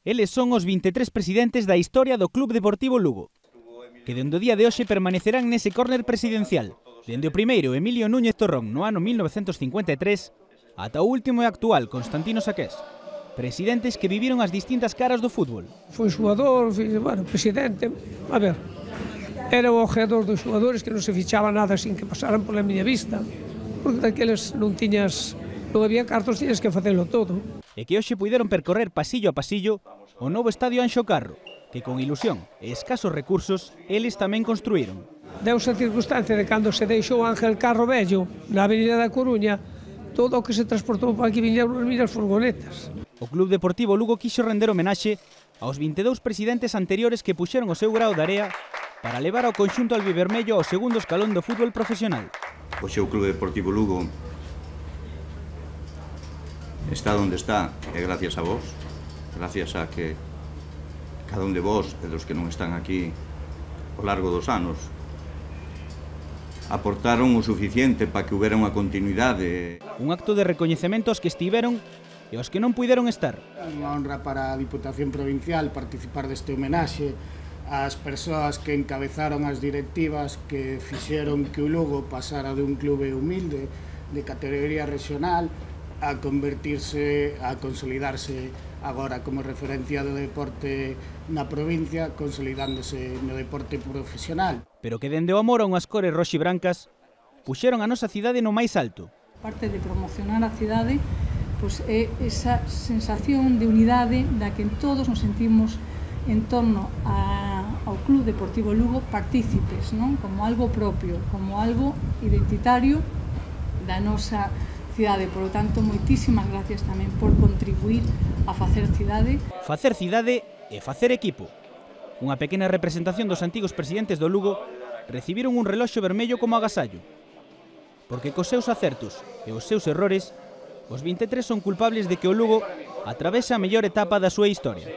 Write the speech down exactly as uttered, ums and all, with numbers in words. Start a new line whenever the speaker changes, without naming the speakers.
Eles son os vinte e tres presidentes da historia do Club Deportivo Lugo, que dende o día de hoxe permanecerán nese córner presidencial, dende o primeiro Emilio Núñez Torrón no ano mil novecentos cincuenta e tres ata o último e actual Constantino Saqués, presidentes que viviron as distintas caras do fútbol.
Foi xogador, bueno, presidente, a ver, era o ojeador dos xogadores que non se fichaba nada sin que pasaran pola miña vista, porque daqueles non tiñas, non había cartos, tiñas que facelo todo.
E que hoxe puideron percorrer pasillo a pasillo o novo estadio Anxo Carro, que con ilusión e escasos recursos eles tamén construíron.
Deuse a circunstancia de cando se deixou Ángel Carro Vello na Avenida da Coruña, todo o que se transportou para aquí viñeron as miñas furgonetas.
O Club Deportivo Lugo quixo render homenaxe aos vinte e dous presidentes anteriores que puxeron o seu grao de area para levar ao conxunto albivermello ao segundo escalón do fútbol profesional.
Hoxe o Club Deportivo Lugo está onde está, e gracias a vos, gracias a que cada un de vos e dos que non están aquí ao largo dos anos aportaron o suficiente para que houbera unha continuidade.
Un acto de recoñecemento aos que estiveron e aos que non puideron estar.
Unha honra para a Diputación Provincial participar deste homenaxe ás persoas que encabezaron as directivas que fixeron que o Lugo pasara de un clube humilde de categoría regional a convertirse, a consolidarse agora como referencia do deporte na provincia, consolidándose no deporte profesional.
Pero que dende o amor a unhas cores roxibrancas puxeron a nosa cidade no máis alto.
Parte de promocionar a cidade, pois é esa sensación de unidade da que todos nos sentimos en torno a, ao Club Deportivo Lugo partícipes, non? Como algo propio, como algo identitario da nosa cidade. Por lo tanto, moitísimas gracias tamén por contribuir a facer cidade.
Facer cidade e facer equipo. Unha pequena representación dos antigos presidentes do Lugo recibiron un reloxo vermello como agasallo. Porque cos seus acertos e os seus errores, os vinte e tres son culpables de que o Lugo atravesa a mellor etapa da súa historia.